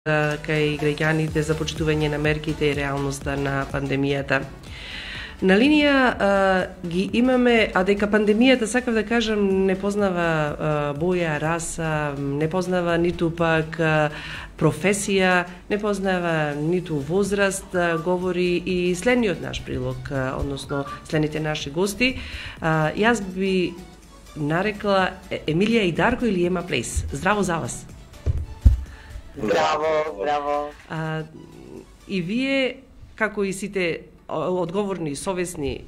кај граѓаните за почитување на мерките и реалноста на пандемијата. На линија ги имаме, а дека пандемијата, сакав да кажам, не познава боја, раса, не познава ниту пак професија, не познава ниту возраст, говори и следниот наш прилог, односно следните наши гости. Јас би нарекла Емилија и Дарко или Ема Плейс. Здраво за вас. Здраво, здраво. И вие, како и сите одговорни, совесни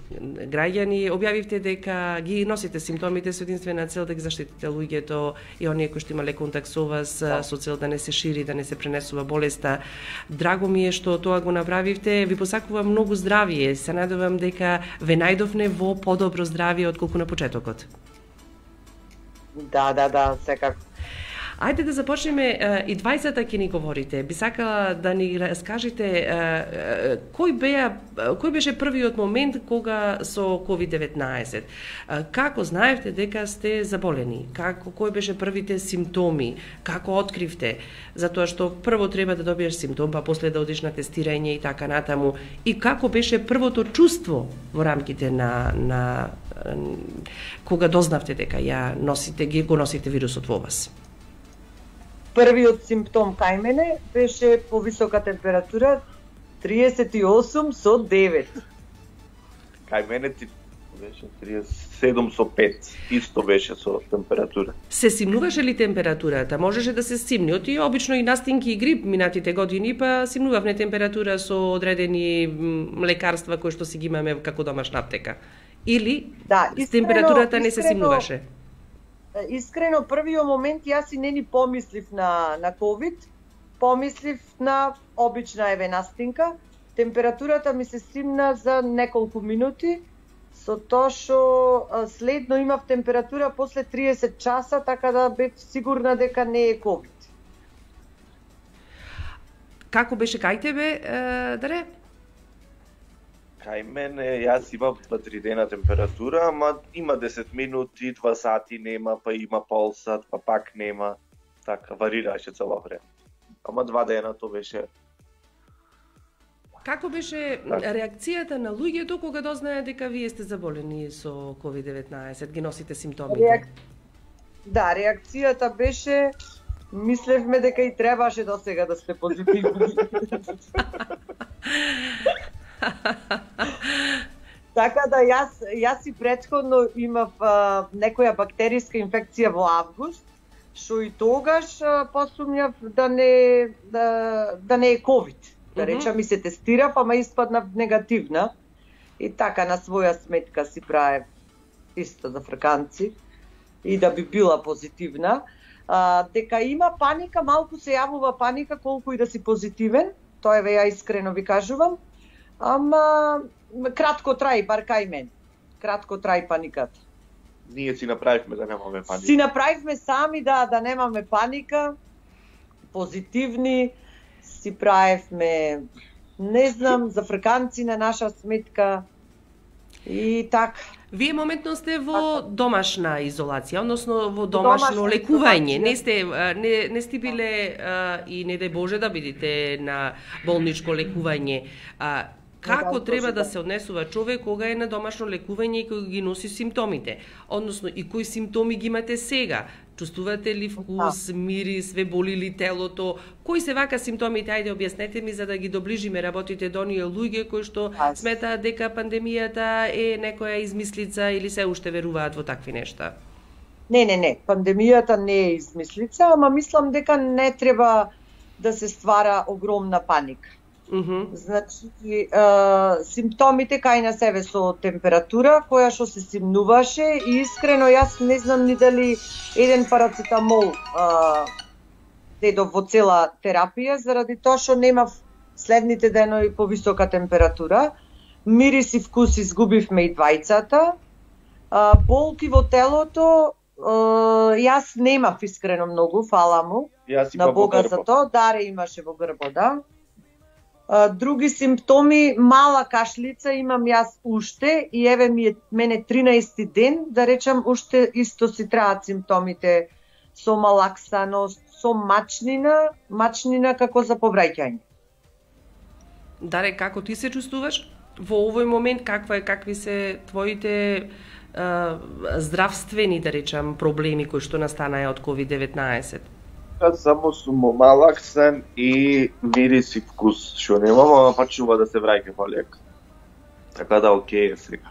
граѓани, објавивте дека ги носите симптомите со единствена цел да ги заштитите луѓето и оние кои што имале контакт со вас, со цел да не се шири, да не се пренесува болеста. Драго ми е што тоа го направивте. Ви посакувам многу здравие. Се надевам дека ве најдовне во подобро здравие отколку на почетокот. Да, секако. Ајде да започнеме, и двајцата ќе ни говорите. Би сакала да ни раскажете кој беше првиот момент кога со COVID-19? Како знаевте дека сте заболени? Кој беше првите симптоми? Како откривте? Затоа што прво треба да добиеш симптом, па после да одиш на тестирање и така натаму. И како беше првото чувство во рамките на кога дознавте дека го носите вирусот во вас? Првиот симптом кај мене беше повисока температура 38 со 9. Кај мене беше 37 со 5. Исто беше со температура. Се симнуваше ли температурата? Можеше да се симни. Оти обично и настинки и грип минатите години, па симнувавме температура со одредени лекарства кои што си ги имаме како домашна аптека. Или температурата не се симнуваше? Искрено, првиот момент јас и не ни помислив на COVID, помислив на обична настинка. Температурата ми се симна за неколку минути, со тоа што следно имав температура после 30 часа, така да бев сигурна дека не е COVID. Како беше кај тебе, Даре? Кај мене, јас имам 2-3 дена температура, ама има 10 минути, 2 сати нема, па има пол сат, па пак нема. Така, варираше цело време. Ама 2 дена то беше. Како беше реакцијата на луѓето кога дознаеа дека вие сте заболени со COVID-19, ги носите симптомите? Да, реакцијата беше, мислевме дека и требаше до сега да сте позитивни. Така да јас и претходно имав некоја бактериска инфекција во август, што и тогаш посумњав да не е COVID. Да речам, и се тестирав, ама испаднав негативна. И така на своја сметка си правев исто за фрканци и да би била позитивна. Дека има паника, малку се јавува паника колку и да си позитивен, тоа е ја искрено ви кажувам. Ама кратко траи, бар кај мен. Кратко траи паниката. Ние си направивме да немаме паника. Си направивме сами да немаме паника. Позитивни си правевме, не знам, за фрканци на наша сметка. И така. Вие моментно сте во домашна изолација, односно во домашно лекување. Не сте биле и не дај Боже да бидете на болничко лекување. Како треба да се однесува човек кога е на домашно лекување и кога ги носи симптомите? Односно, и кои симптоми ги имате сега? Чувствувате ли вкус, мирис, ве боли ли телото? Кои се вака симптомите? Ајде, објаснете ми за да ги доближиме работите до оние луѓе кои што сметаат дека пандемијата е некоја измислица или се уште веруваат во такви нешта? Не. Пандемијата не е измислица, ама мислам дека не треба да се ствара огромна паника. Значи, симптомите кај на себе со температура, која што се симнуваше, и искрено јас не знам ни дали еден парацетамол дедов во цела терапија, заради тоа што немав следните денови повисока температура. Мирис и вкус изгубивме и двајцата. Болки во телото, јас немав искрено многу, фала му на Бога за тоа. Даре имаше во грбот, да. Други симптоми, мала кашлица имам јас уште и еве мене 13 ден, да речам, уште исто си траат симптомите со малаксаност, со мачнина како за повраќање. Даре, како ти се чувствуваш во овој момент? Какви се твоите здравствени, да речам, проблеми кои што настанаа од COVID-19? Само сум малаксан и мирис и вкус, што немам, ама почнува да се враќа полека. Така да окей сега.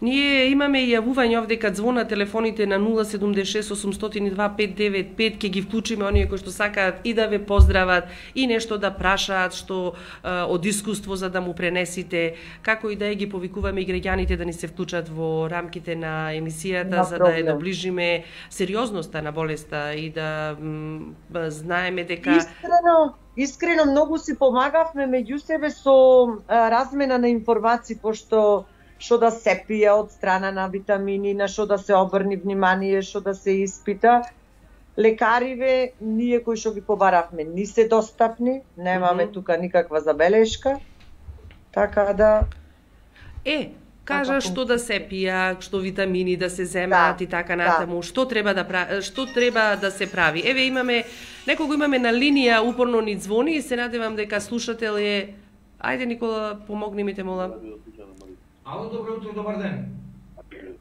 Ние имаме и јавување овде кад звона телефоните на 076 802 595, ќе ги вклучиме оние кои што сакаат и да ве поздрават и нешто да прашаат што од искуство за да му пренесите, како и да ги повикуваме и граѓаните да ни се вклучат во рамките на емисијата за да ја доближиме сериозноста на болеста и да знаеме дека Искрено многу си помагавме меѓу себе со размена на информации, пошто што да се пие од страна на витамини, на што да се обрни внимание, што да се испита. Лекариве, ние кои што ги побаравме, ни се достапни, немаме тука никаква забелешка, така да... Кажа што да се пија, што витамини да се земат и така натаму, што треба да се прави. Еве некого имаме на линија, упорно ни звони и се надевам дека слушател е... Ајде Никола, помогни ми те мола. Ало, добро утро, добар ден.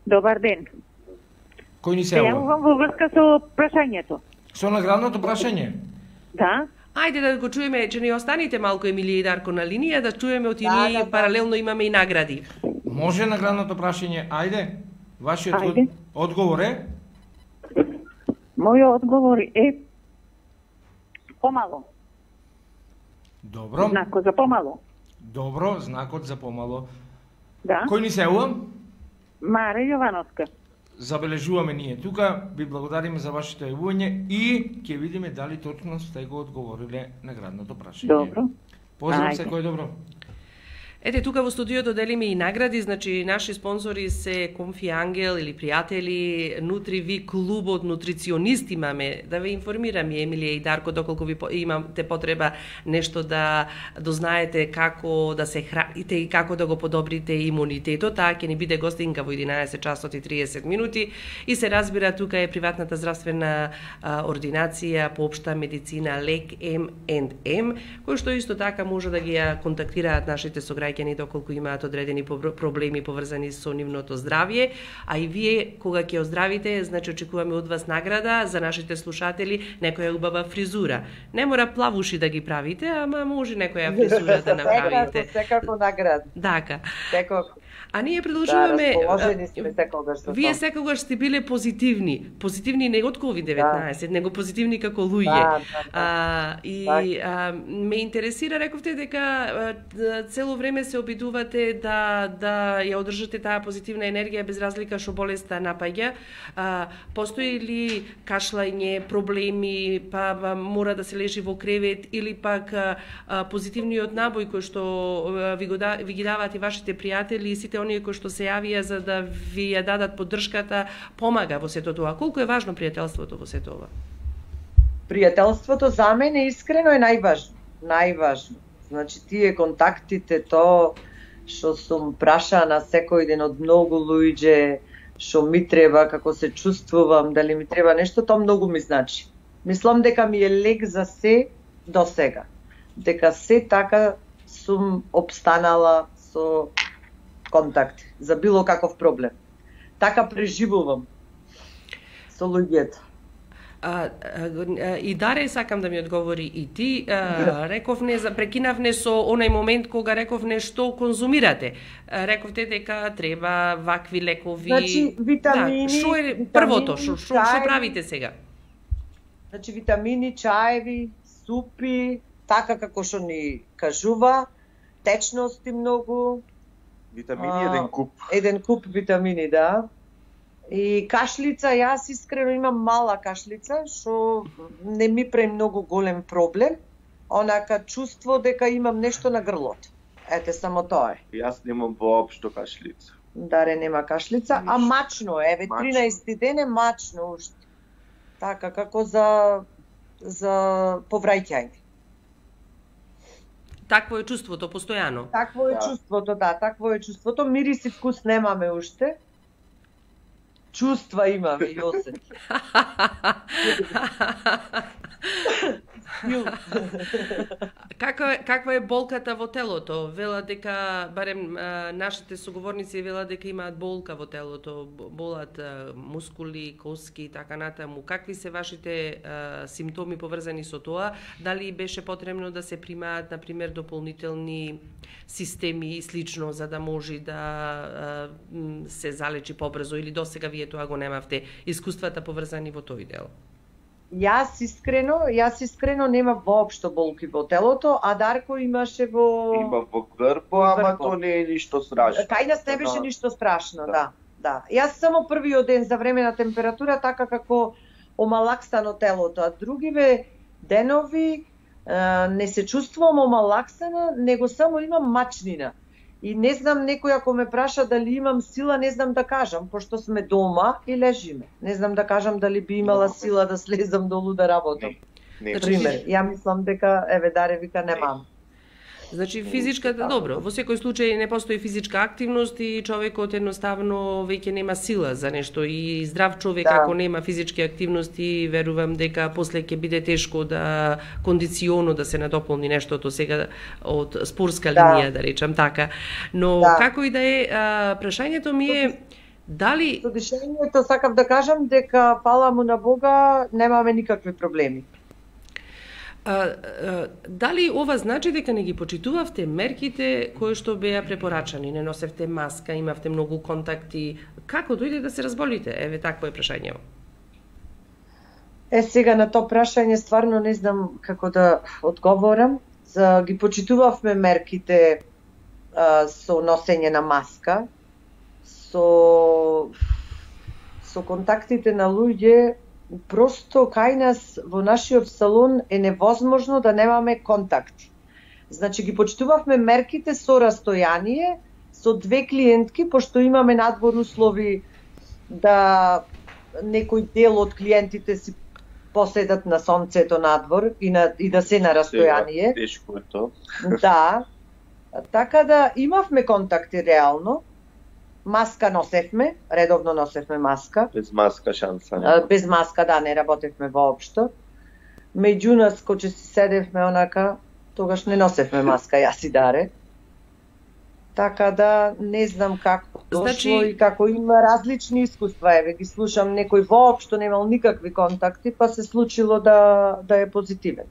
Добар ден. Кој ни се јавува? Јавувам во врска со прашањето. Со наградното прашање? Да. Ајде да го чуеме, че не останите малку Емилија и Дарко на линија, да чуеме од ние паралелно имаме и награди. Може наградното прашање, ајде. Вашиот одговор е? Мојот одговор е помало. Добро. Знакот за помало. Добро, знакот за помало. Да. Кој ни се јавува? Маре Јовановска. Забележуваме ние тука, ви благодариме за вашето јавување и ќе видиме дали точно сте го одговориле наградното прашање. Добро. Поздрав се, кој добро. Ете, тука во студиото делиме и награди, значи наши спонзори се Конфи Ангел или пријатели, Нутриви клубот, нутриционист имаме, да ве информирам Емилија и Дарко, доколку ви имате потреба нешто да дознаете како да се храните и како да го подобрите имунитетот, таа ќе ни биде гостинка во 11 часот и 30 минути и се разбира тука е приватната здравствена ординација по општа медицина Лек M&M, кој што исто така може да ги контактираат нашите сограѓани доколку имаат одредени проблеми поврзани со нивното здравје, а и вие кога ќе оздравите, значи очекуваме од вас награда за нашите слушатели, некоја убава фризура. Не мора плавуши да ги правите, ама може некоја фризура да направите. Секако награда. Дака. Секако. А ние продолжуваме. Да, вие секогаш сте биле позитивни. Позитивни не од COVID-19, него позитивни како луѓе. Ме интересира, рековте дека цело време се обидувате да ја одржате таа позитивна енергија без разлика што болеста напаѓа. Постои ли кашлање, проблеми, па мора да се лежи во кревет или пак позитивниот набој кој што ви ги даваат и вашите пријатели и сите оние кои што се јавија за да ви ја дадат поддршката, помага во сето тоа. Колку е важно пријателството во сето ова? Пријателството за мене искрено е најважно. Најважно. Значи тие контактите, то што сум прашана секој ден од многу луѓе, што ми треба, како се чувствувам, дали ми треба нешто, тоа многу ми значи. Мислам дека ми е лек за се до сега. Дека се така сум обстанала со контакт за било каков проблем. Така преживувам со луѓето. И Даре, сакам да ми одговори и ти, рековне, прекинавне со онај момент кога рековне што конзумирате. Рековте дека треба вакви лекови. Значи, витамини. Што е првото, што правите сега? Значи, витамини, чаеви, супи, така како што ни кажува, течности многу. Витамини еден куп. Еден куп витамини, да. И кашлица, јас искрено имам мала кашлица, што не ми прави многу голем проблем, онака чувство дека имам нешто на грлото. Ете, само тоа е. Јас немам воопшто кашлица. Даре нема кашлица, а мачно е, еве 13 ден е мачно уште. Така, како за повраќање. Такво е чувството, постојано. Такво е чувството, да, такво е чувството. Мирис и вкус немаме уште. чувства имаме и осети. Каква е болката во телото? Вела дека, барем нашите соговорници вела дека имаат болка во телото, болат мускули, коски и така натаму. Какви се вашите симптоми поврзани со тоа? Дали беше потребно да се примаат, например, дополнителни системи и слично, за да може да се залечи побрзо, или досега вие тоа го немавте, искуствата поврзани во тој дел? Јас искрено немав воопшто болки во телото, а Дарко имаше Има во грбо, ама тоа не е ништо страшно. Кај нас не беше ништо страшно, да. Јас само првиот ден за време на температура, така како омалаксано телото, а другиве денови не се чувствувам омалаксана, него само имам мачнина. И не знам, некој ако ме праша дали имам сила, не знам да кажам, пошто сме дома и лежиме. Не знам да кажам дали би имала сила да слезам долу да работам. Пример, ја мислам дека, Даре вика, немам. Значи физичката, добро, во секој случај не постои физичка активност и човекот едноставно веќе нема сила за нешто, и здрав човек ако нема физички активности, верувам дека после ќе биде тешко да кондиционо да се надополни нештото сега од спорска линија, да речам така. Но како и да е, прашањето ми е дали... Со дишењето сакав да кажам дека, фала му на Бога, немаме никакви проблеми. Дали ова значи дека не ги почитувавте мерките кои што беа препорачани? Не носевте маска, имавте многу контакти. Како дојде да се разболите? Еве, такво е прашањето. Сега на тоа прашање стварно не знам како да одговорам. Ги почитувавме мерките со носење на маска, со контактите на луѓе. Просто кај нас во нашиот салон е невозможно да немаме контакти. Значи ги почитувавме мерките со растојание, со 2 клиентки, пошто имаме надвор услови да некој дел од клиентите си поседат на сонцето надвор и да се на растојание. Тешко е тоа. Да. Така да имавме контакти реално. Маска носевме, редовно носевме маска. Без маска шанса. Без маска, не работевме воопшто. Меѓу нас, кога си седевме онака, тогаш не носевме маска, јас и Даре. Така да, не знам како дошло и како има различни искуства. Еве, ги слушам, некој воопшто немал никакви контакти, па се случило да е позитивен.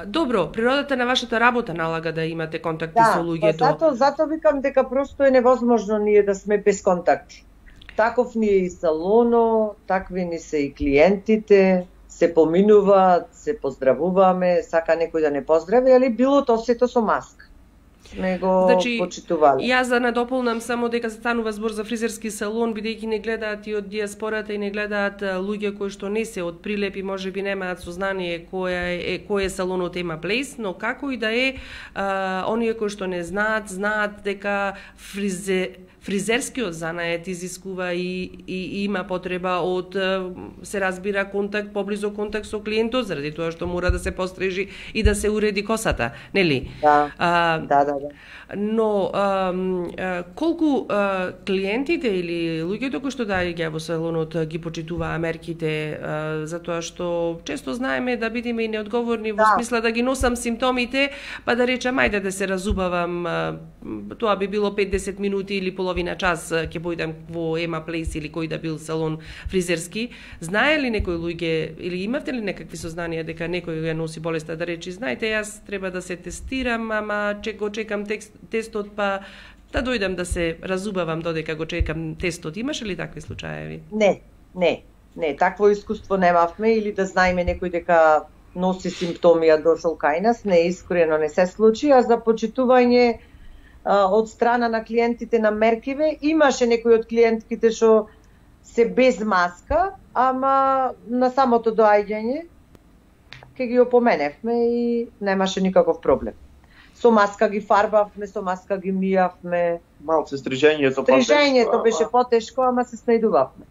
Добро, природата на вашата работа налага да имате контакти со луѓето. Да, зато викам дека просто е невозможно ние да сме без контакти. Таков ни е и салоно, такви ни се и клиентите, се поминуваат, се поздравуваме, сака некој да не поздрави, али било тоа сето со маска. Сме го почитували. Јас да надополнам само дека станува збор за фризерски салон, бидејќи не гледаат и од диаспората и не гледаат луѓе кои што не се од Прилеп и можеби немаат сознание кој е салонот Ема Плейс, но како и да е, оние кои што не знаат дека фризерскиот занает изискува и има потреба од, се разбира, контакт, поблизо контакт со клиентот, заради тоа што мора да се пострижи и да се уреди косата, нели? Да. Но колку клиентите или луѓето кои што доаѓаат во салонот ги почитуваа мерките, затоа што често знаеме да бидеме и неодговорни во смисла да ги носам симптомите, па да речам ајде да се разубавам, тоа би било 5-10 минути или половина час ќе појдам во Ема Плейс или кој да бил салон фризерски. Знае ли некој луѓе или имавте ли некакви сознанија дека некој ја носи болеста, да речи знаете јас треба да се тестирам, ама го чекам тестот, па да дојдам да се разубавам додека го чекам тестот. Имаше ли такви случаеви? Не, такво искуство немавме, или да знаеме некој дека носи симптоми, а дошол кај нас, не, искрено не се случи, а за почитување од страна на клиентите на меркиве, имаше некои од клиентките што се без маска, ама на самото доаѓање ќе ги опоменевме и немаше никаков проблем. Со маска ги фарбавме, со маска ги мијавме. Малце стрижењето беше потешко, ама се снајдувавме.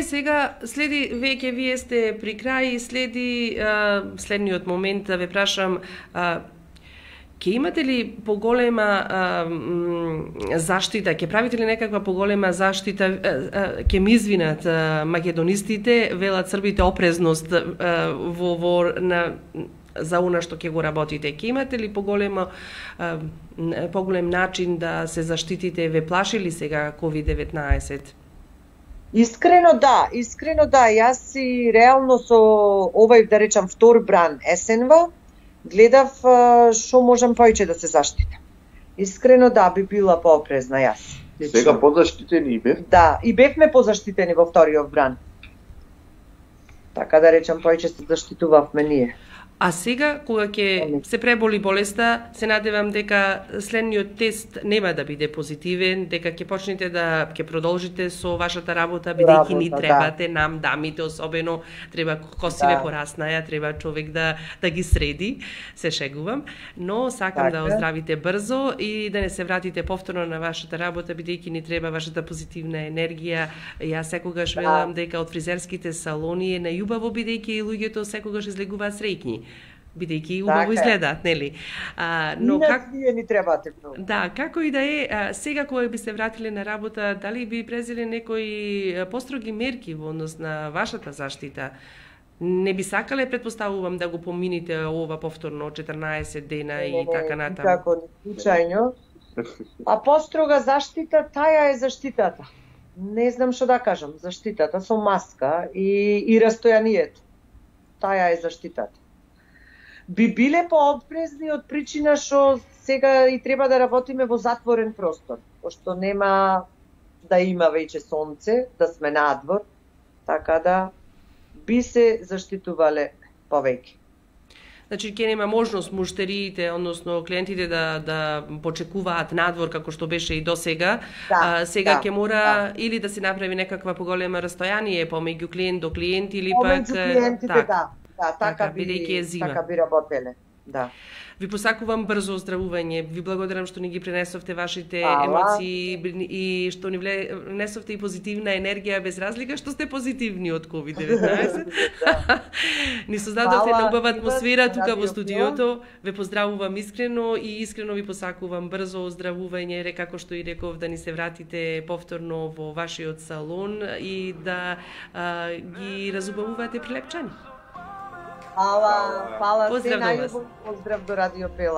Сега, следи, веќе вие сте при крај, следи следниот момент да ве прашам, Ке имате ли поголема заштита, ке правите ли некаква поголема заштита, ке ми извинат македонистите, велат србите опрезност за она што ќе го работите. Ке имате ли поголем начин да се заштитите? Ве плаши ли сега COVID-19? Искрено да. Јас си реално со овој, да речам, втор бран есенва, гледав што можам повеќе да се заштитам. Искрено да, би била поопрезна јас. Сега позаштитени и бев? Да, и бевме позаштитени во вториот бран. Така да речам, повеќе се заштитувавме ние. А сега, кога ќе се преболи болеста, се надевам дека следниот тест нема да биде позитивен, дека ќе почнете да ќе продолжите со вашата работа, бидејќи ни требате, нам, дамите особено, треба косиве пораснаја, треба човек да ги среди, се шегувам, но сакам да оздравите брзо и да не се вратите повторно на вашата работа, бидејќи ни треба вашата позитивна енергија. Јас секогаш велам дека од фризерските салони е најубаво, бидејќи луѓето секогаш излегуваат среќни, бидејќи убаво изгледаат, нели? Но как вие ни требате многу. Да, како и да е, сега кога би се вратиле на работа, дали би презеле некои построги мерки во однос на вашата заштита? Не би сакале, претпоставувам, да го помините ова повторно 14 дена и така натаму? Како ни случајно. А построга заштита, таја е заштитата. Не знам што да кажам, заштитата со маска и растојанието. Таја е заштитата. Би биле поопрезни од причина што сега и треба да работиме во затворен простор, пошто нема да има веќе сонце, да сме надвор, така да би се заштитувале повеќе. Значи, ќе нема можност муштериите, односно клиентите да почекуваат надвор како што беше и до сега. Сега ќе мора или да се направи некаква поголема растојание помеѓу клиент до клиент или пак клиентите, така би работеле. Да. Ви посакувам брзо оздравување. Ви благодарам што ни ги пренесовте вашите емоции и што ни внесовте и позитивна енергија без разлика што сте позитивни од COVID-19. Ни создадовте една убава атмосфера тука во студиото. Ве поздравувам искрено и искрено ви посакувам брзо оздравување, како што и реков, да ни се вратите повторно во вашиот салон и да ги разубавувате прилепчани. Фала, се најубав поздрав до Радио Пела.